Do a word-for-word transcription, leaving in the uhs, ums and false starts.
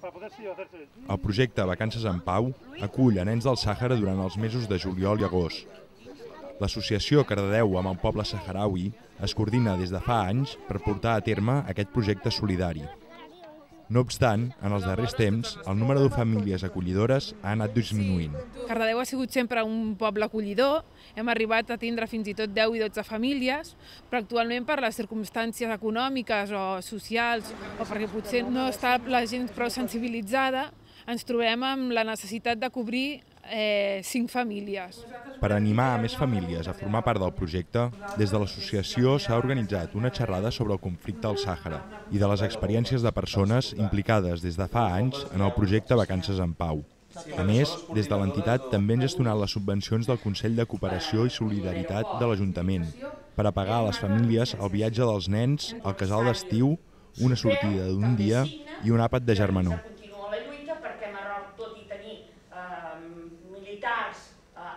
El projecte Vacances en Pau acull a nens del Sàhara durant els mesos de juliol i agost. L'associació Cardedeu amb el poble saharaui es coordina des de fa anys per portar a terme aquest projecte solidari. No obstant, en els darrers temps, el número de famílies acollidores ha anat disminuint. Cardedeu ha sigut sempre un poble acollidor, hem arribat a tindre fins i tot deu i dotze famílies, però actualment per les circumstàncies econòmiques o socials, o perquè potser no està la gent prou sensibilitzada, ens trobem amb la necessitat de cobrir eh, cinc famílies. Per animar a més famílies a formar part del projecte, des de l'associació s'ha organitzat una xerrada sobre el conflicte al Sàhara i de les experiències de persones implicades des de fa anys en el projecte Vacances en Pau. A més, des de l'entitat també han gestionat les subvencions del Consell de Cooperació i Solidaritat de l'Ajuntament per a pagar a les famílies el viatge dels nens, el casal d'estiu, una sortida d'un dia i un àpat de germanor. Continua la lluita perquè Marroc, tot i tenir eh, militars, eh,